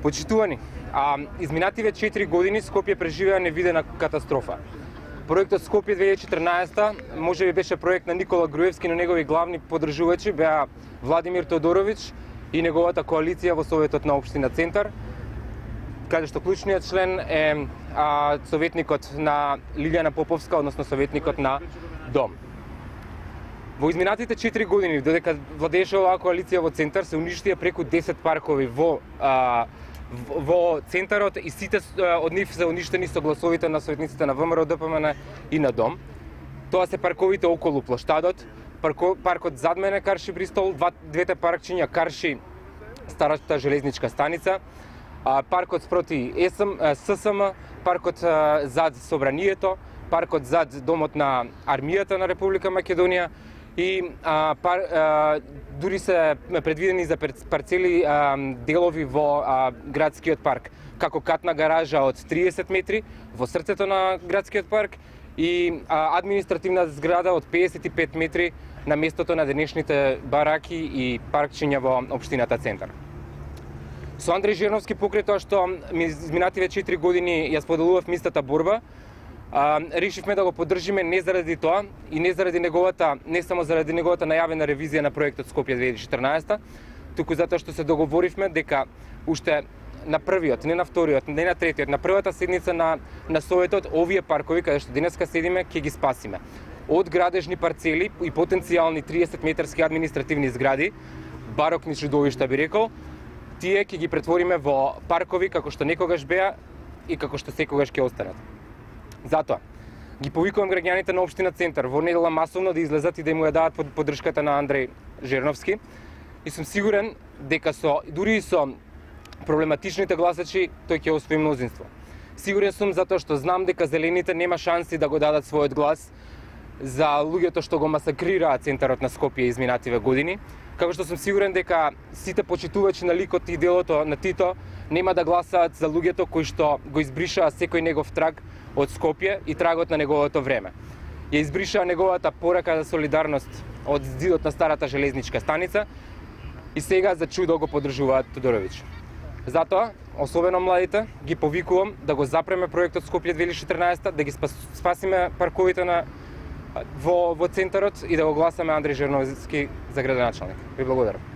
Почитувани, изминативе 4 години Скопје преживеа невидена катастрофа. Проектот Скопје 2014 можеби беше проект на Никола Груевски, но негови главни поддржувачи беа Владимир Тодорович и неговата коалиција во Советот на општина Центар, каде што клучниот член е советникот на Лилијана Поповска, односно советникот на Дом. Во изминатите 4 години, додека владееше оваа коалиција во Центар, се уништија преку 10 паркови во Центарот и сите од нив се уништени со гласовите на советниците на ВМРО, ДПМН и на Дом. Тоа се парковите околу плоштадот, паркот зад мене Карши Бристол, двете паркчиња Карши старата железничка станица, паркот спроти ССМ, паркот зад Собранието, паркот зад домот на армијата на Република Македонија и дури се предвидени за парцели делови во градскиот парк, како катна гаража од 30 метри во срцето на градскиот парк и административна зграда од 55 метри на местото на денешните бараки и паркчиња во општината Центар. Со Андреј Жерновски, покрај тоа што изминативе 4 години ја споделував мистата борба, решивме да го поддржиме не заради тоа и не заради не само заради неговата најавена ревизија на проектот Скопје 2014, туку затоа што се договоривме дека уште на првиот, не на вториот, не на третиот, на првата седница на Советот, овие паркови каде што денеска седиме, ќе ги спасиме од градежни парцели и потенцијални 30 метарски административни згради, барокни чудовишта би рекол, тие ќе ги претвориме во паркови како што некогаш беа и како што секогаш ќе останат. Затоа ги повикувам граѓаните на општина Центар во недела масовно да излезат и да му ја дадат поддршката на Андреј Жерновски и сум сигурен дека дури и со проблематичните гласачи тој ќе освои мнозинство. Сигурен сум затоа што знам дека зелените нема шанси да го дадат својот глас за луѓето што го масакрираа Центарот на Скопје изминативе години, како што сум сигурен дека сите почитувачи на ликот и делото на Тито нема да гласаат за луѓето кои што го избришаа секој негов траг од Скопје и трагот на неговото време. Ја избришаа неговата порака за солидарност од зидот на старата железничка станица и сега за чудо го поддржуваат Тодорович. Затоа, особено младите, ги повикувам да го запреме проектот Скопје 2014, да ги спасиме парковите во Центарот и да го гласаме Андреј Жерновски за градоначалник. Ви благодарам.